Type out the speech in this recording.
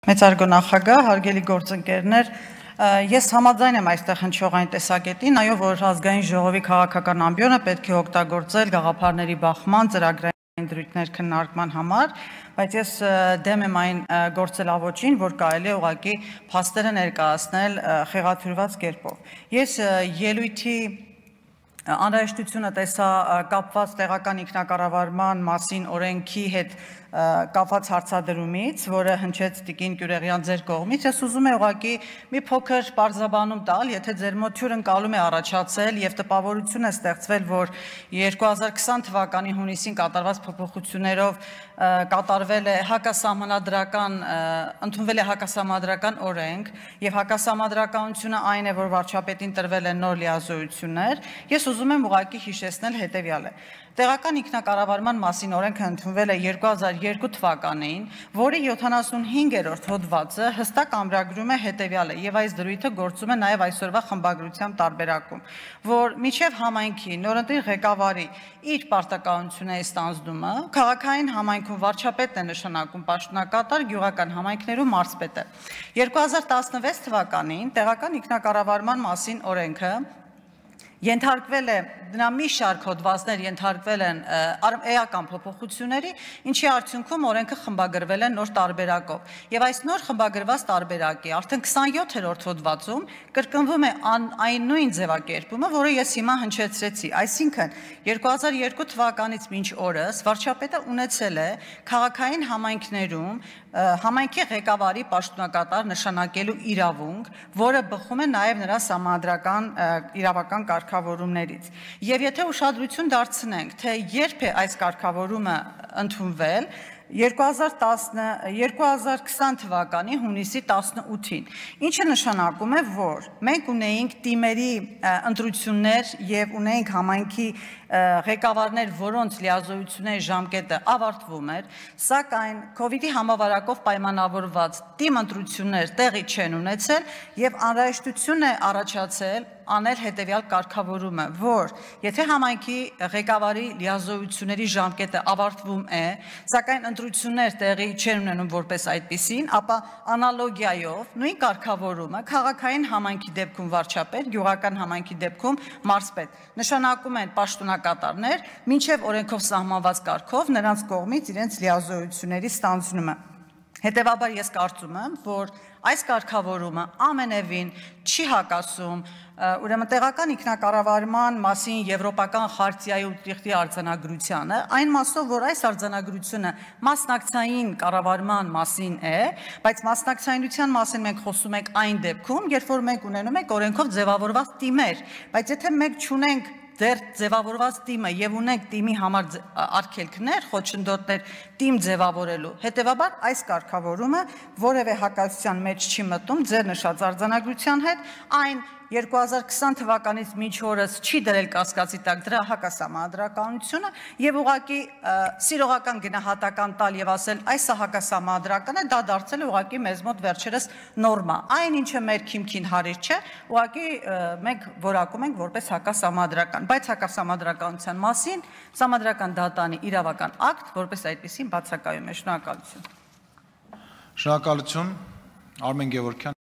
Մեծարգո նախագահ, հարգելի գործընկերներ, ես համաձայն եմ այստեղ հնչողային տեսակետին, այո, որ ազգային ժողովի քաղաքական ամբիոնը պետք է օգտագործել գաղափարների բախման, ծրագրային դրույթներ քննարկման համար, բայց ես դեմ եմ այն գործելավոճին, որ կարելի է ուղղակի փաստերը ներկայացնել խեղաթյուրված կերպով։ Ես ելույթի անհրաժեշտությունը տեսա կապված տեղական ինքնակառավարման մասին օրենքի հետ կապված հարցադրումից, որը հնչեց Տիկին Կյուրեղյան ձեր կողմից, ես ուզում եմ ուղղակի մի փոքր պարզաբանում տալ, եթե ձեր մոտ հյուրընկալում է առաջացել եւ տպավորություն է ստեղծվել, որ 2020 թվականի հունիսին կատարված փոփոխություններով կատարվել է ընդունվել է հակասահմանադրական օրենք եւ հակասահմանադրականությունը այն է, որ վարչապետին տրվել են նոր լիազորություններ, ես ուզում եմ ուղղակի հիշեցնել հետեւյալը. Տեղական ինքնակառավարման մասին օրենքը ընդունվել է 2002 թվականին, որի 75-րդ հոդվածը հստակ ամրագրում է հետեւյալը, եւ այս դրույթը գործում է նաեւ այսօրվա խմբագրության տարբերակում, որ միջև համայնքի նորընտիր ղեկավարի իր պարտականությունների ստանձնումը քաղաքային համայնքում վարչապետն է նշանակում պաշտոնակատար, գյուղական համայնքներում մարզպետը։ 2016 թվականին տեղական ինքնակառավարման մասին օրենքը ենթարկվել է, դրա մի շարք հոդվածներ ենթարկվել են էական փոփոխությունների, ինչի արդյունքում օրենքը խմբագրվել է նոր տարբերակով։ Եվ այս նոր խմբագրված տարբերակի արդեն 27-րդ հոդվածում կրկնվում է այն նույն ձևակերպումը, որը ես հիմա հնչեցրեցի, այսինքն 2002 թվականից մինչ օրս վարչապետը ունեցել է քաղաքային համայնքներում համայնքի ղեկավարի պաշտոնակատար նշանակելու իրավունք, որը բխում է նաև նրա սահմանադրական իրավական կարգավորումներից։ Եվ եթե ուշադրություն դարձնենք, թե երբ է այս կարգավորումը ընդունվել, 2020 թվականի հունիսի 18-ին, ինչը նշանակում է, որ մենք ունեինք տիմերի ընտրություններ եւ ունեինք համայնքի ղեկավարներ, որոնց լիազորությունների ժամկետը ավարտվում էր, սակայն COVID-ի համավարակով պայմանավորված տիմ ընտրություններ տեղի չեն ունեցել եւ անհրաժեշտություն է առաջացել անել հետեւյալ կարգավորումը, որ եթե համայնքի ղեկավարի լիազորությունների ժամկետը ավարտվում է, սակայն ընտրություններ տեղի չեն ունենում որպես այդպիսին, ապա անալոգիայով նույն կարգավորումը քաղաքային համայնքի դեպքում վարչապետ, գյուղական համայնքի դեպքում մարզպետ նշանակում են պաշտոնակատարներ, մինչև օրենքով սահմանված կարգով նրանց կողմից իրենց լիազորությունների ստանձնումը։ Հետևաբար ես կարծում եմ, որ այս կարգավորումը ամենևին չի հակասում ուրեմն տեղական ինքնակառավարման մասին եվրոպական խարտիայի ուտիղտի արձանագրությանը, այն մասով, որ այս արձանագրությունը մասնակցային կառավարման մասին է, բայց մասնակցայնության մասին մենք խոսում ենք այն դեպքում, երբ որ մենք ունենում ենք օրենքով ձևավորված տիմեր, բայց եթե մենք չունենք դեռ ձևավորված տիմը եւ ունենք տիմի համար արգելքներ, խոչընդոտներ տիմ ձևավորելու, հետեւաբար այս կարգավորումը որևէ հակասության մեջ չի մտնում ձեր նշած արձանագրության հետ, այն 2020 թվականից մինչ օրս չի դրել կասկածի տակ դրա հակասահմանադրականությունը եւ ուղղակի սիրողական գնահատական տալ եւ ասել այս հակասահմանադրական է, դա դարձել է ուղղակի մեզ մոտ վերջերս նորմա։ Այն ինչը մեր քիմքին հարիր չէ, ուղղակի մենք որակում ենք որպես հակասահմանադրական, բայց հակասահմանադրականության մասին Սահմանադրական դատարանի իրավական ակտ որպես այդպեսին բացակայում է։ Շնորհակալություն։ Շնորհակալություն, Արմեն Գևորգյան։